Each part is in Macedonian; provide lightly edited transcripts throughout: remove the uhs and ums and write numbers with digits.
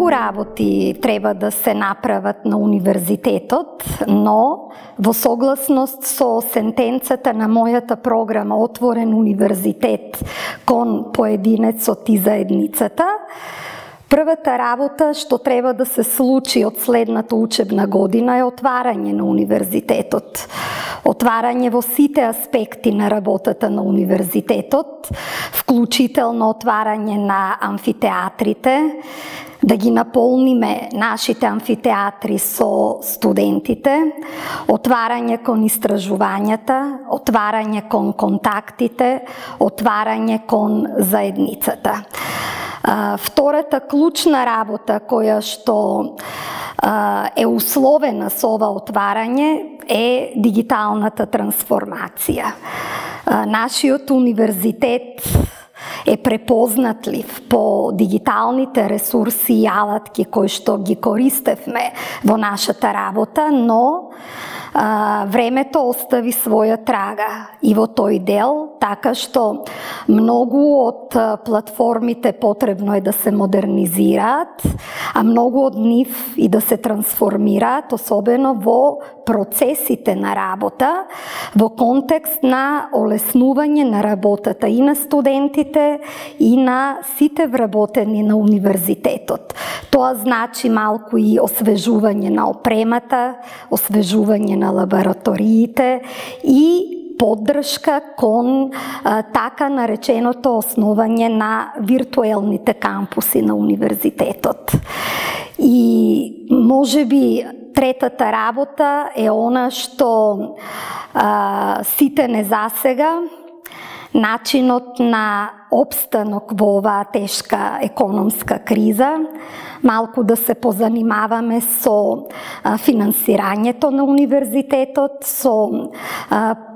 Многу работи треба да се направат на универзитетот, но во согласност со сентенцата на мојата програма Отворен универзитет кон поединецот и заедницата, првата работа што треба да се случи од следната учебна година е отварање на универзитетот. Отварање во сите аспекти на работата на универзитетот, вклучително отварање на амфитеатрите, да ги наполниме нашите амфитеатри со студентите, отварање кон истражувањата, отварање кон контактите, отварање кон заедницата. Втората клучна работа која што е условена со ова отварање е дигиталната трансформација. Нашиот универзитет е препознатлив по дигиталните ресурси и алатки кои што ги користевме во нашата работа, но времето остави своја трага и во тој дел, така што многу од платформите потребно е да се модернизираат, а многу од нив и да се трансформираат, особено во процесите на работа, во контекст на олеснување на работата и на студентите и на сите вработени на универзитетот. Тоа значи малку и освежување на опремата, освежување на лабораториите и поддршка кон така нареченото основање на виртуелните кампуси на универзитетот. И можеби третата работа е она што сите не засега, начинот на опстанок во оваа тешка економска криза, малку да се позанимаваме со финансирањето на универзитетот, со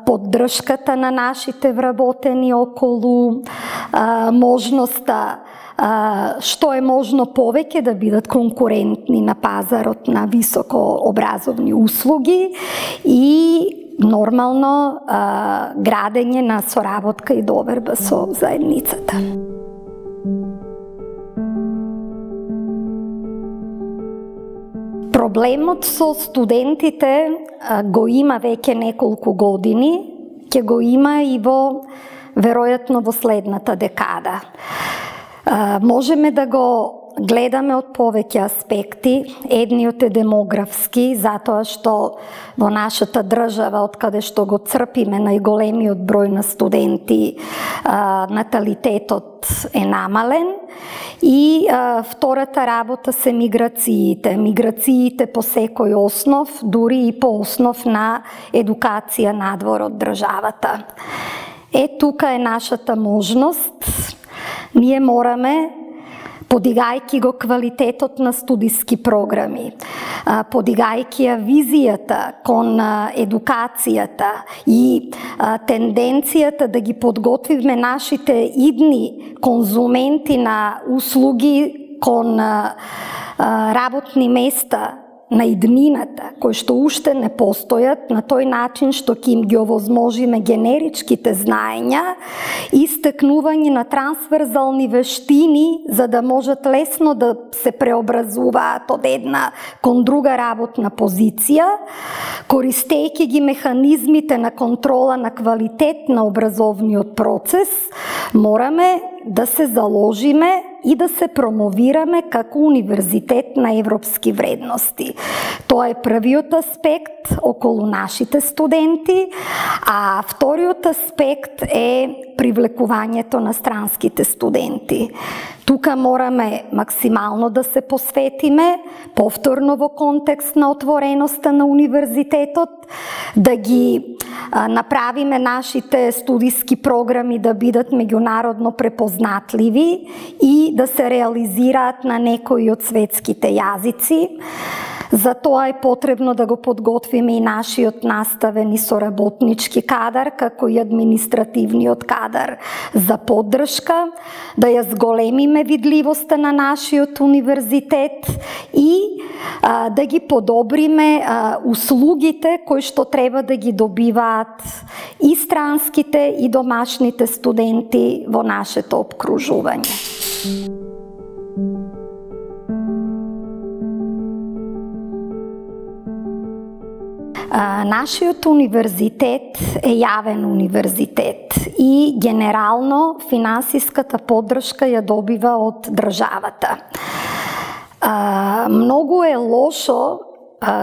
поддршката на нашите вработени околу можноста што е можно повеќе да бидат конкурентни на пазарот на високообразовни услуги и нормално градење на соработка и доверба со заедницата. Проблемот со студентите го има веќе неколку години, ќе го има и веројатно во следната декада. Можеме да го гледаме од повеќе аспекти. Едниот е демографски, затоа што во нашата држава, од каде што го црпиме најголемиот број на студенти, наталитетот е намален. И втората работа се миграциите. Миграциите по секој основ, дури и по основ на едукација надвор од државата. Тука е нашата можност. Ние мораме, подигајќи го квалитетот на студиски програми, подигајќи ја визијата кон едукацијата и тенденцијата да ги подготвиме нашите идни конзументи на услуги кон работни места на иднината, кои што уште не постојат, на тој начин што ќе им ги овозможиме генеричките знаења и стекнување на трансверзални вештини, за да можат лесно да се преобразуваат од една кон друга работна позиција, користејќи ги механизмите на контрола на квалитет на образовниот процес, мораме да се заложиме и да се промовираме како универзитет на европски вредности. Тоа е првиот аспект околу нашите студенти, а вториот аспект е привлекувањето на странските студенти. Тука мораме максимално да се посветиме, повторно во контекст на отвореноста на универзитетот, да ги направиме нашите студиски програми да бидат меѓународно препознатливи и да се реализираат на некои од светските јазици. За тоа е потребно да го подготвиме и нашиот наставен и соработнички кадар, како и административниот кадар за поддршка, да ја зголемиме видливоста на нашиот универзитет и да ги подобриме услугите кои што треба да ги добиваат и странските и домашните студенти во нашето опкружување. Нашиот универзитет е јавен универзитет и генерално финансиската поддршка ја добива од државата. Многу е лошо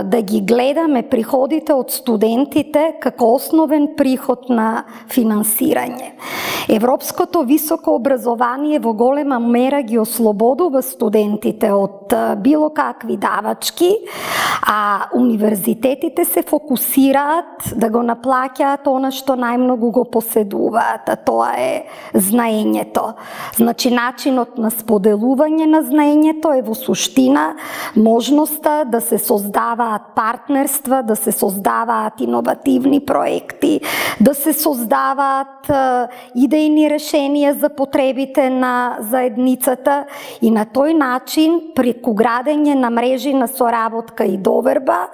да ги гледаме приходите од студентите како основен приход на финансирање. Европското високо образование во голема мера ги ослободува студентите од било какви давачки, а универзитетите се фокусираат да го наплаќаат она што најмногу го поседуваат, а тоа е знаењето. Значи, начинот на споделување на знаењето е во суштина можноста да се создаваат партнерства, да се создаваат иновативни проекти, да се создаваат идејни решенија за потребите на заедницата и на тој начин, преку градење на мрежи на соработка и доверба,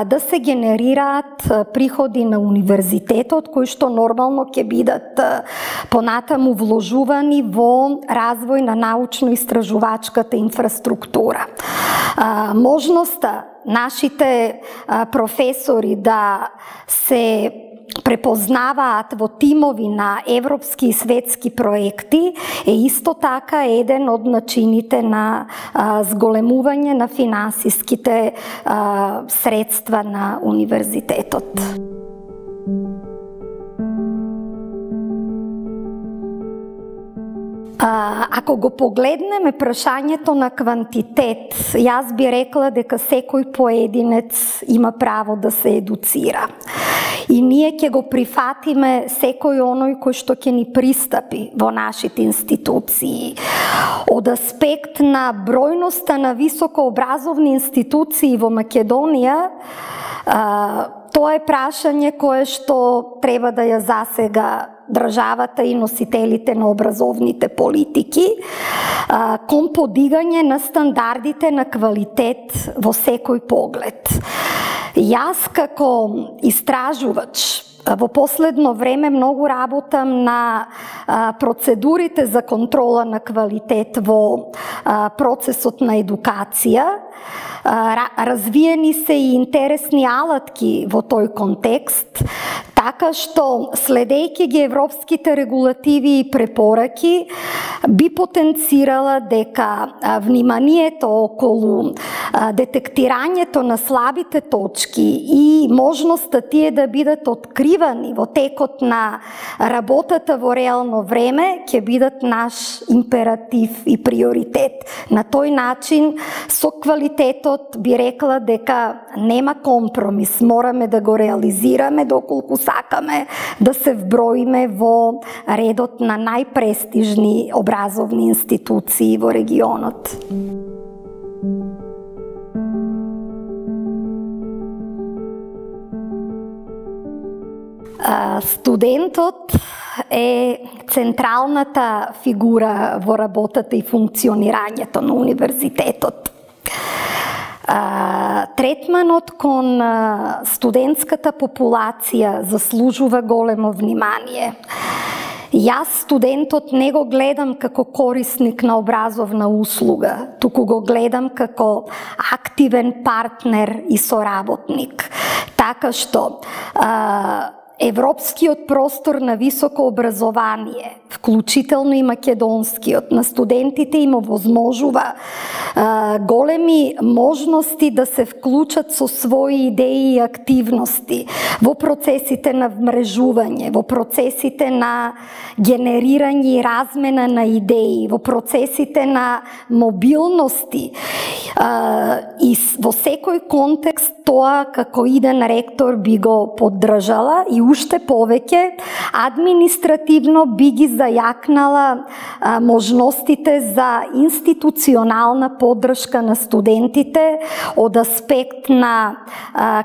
да се генерираат приходи на универзитетот, кои што нормално ќе бидат понатаму вложувани во развој на научно-истражувачката инфраструктура. Можноста нашите професори да се препознаваат во тимови на европски и светски проекти е исто така еден од начините на зголемување на финансиските средства на универзитетот. Ако го погледнеме прашањето на квантитет, јас би рекла дека секој поединец има право да се едуцира. И ние ќе го прифатиме секој оној кој што ќе ни пристапи во нашите институции. Од аспект на бројноста на високообразовни институции во Македонија, тоа е прашање кое што треба да ја засега државата и носителите на образовните политики кон подигање на стандардите на квалитет во секој поглед. Јас како истражувач во последно време многу работам на процедурите за контрола на квалитет во процесот на едукација. Развиени се и интересни алатки во тој контекст, така што, следејќи ги европските регулативи и препораки, би потенцирала дека вниманието околу детектирањето на слабите точки и можноста тие да бидат откривани во текот на работата во реално време ќе бидат наш императив и приоритет. На тој начин, со квалитетот би рекла дека нема компромис, мораме да го реализираме доколку сакаме да се вброиме во редот на најпрестижни образовни институции во регионот. Студентот е централната фигура во работата и функционирањето на универзитетот. Третманот кон студентската популација заслужува големо внимание. Јас студентот не го гледам како корисник на образовна услуга, туку го гледам како активен партнер и соработник. Така што европскиот простор на високо образование, вклучително и македонскиот, на студентите им овозможува големи можности да се вклучат со своји идеи и активности во процесите на вмрежување, во процесите на генерирање и размена на идеи, во процесите на мобилности. И во секој контекст тоа како иден ректор би го поддржала и уште повеќе административно би ги зајакнала можностите за институционална поддршка на студентите од аспект на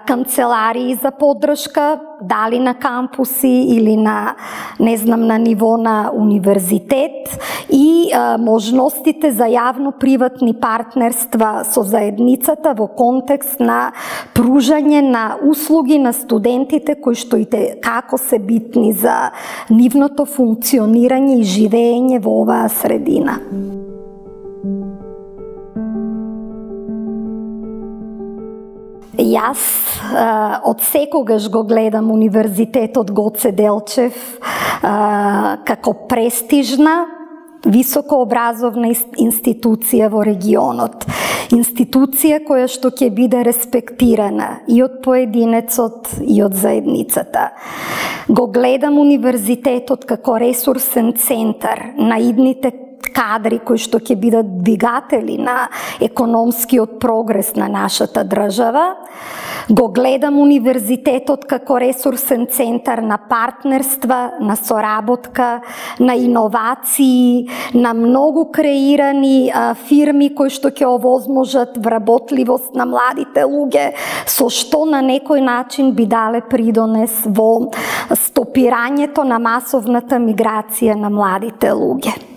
канцеларии за поддршка, дали на кампуси или на, не знам, на ниво на универзитет, и можностите за јавно-приватни партнерства со заедницата во контекст на пружање на услуги на студентите кои што и како се битни за нивното функционирање и живење во оваа средина. Јас од секогаш го гледам Универзитетот Гоце Делчев како престижна, високообразовна институција во регионот. Институција која што ќе биде респектирана и од поединецот и од заедницата. Го гледам Универзитетот како ресурсен центар на идните кадри кои што ќе бидат двигатели на економскиот прогрес на нашата држава. Го гледам Универзитетот како ресурсен центар на партнерства, на соработка, на иновации, на многу креирани фирми кои што ќе овозможат вработливост на младите луѓе, со што на некој начин би дале придонес во стопирањето на масовната миграција на младите луѓе.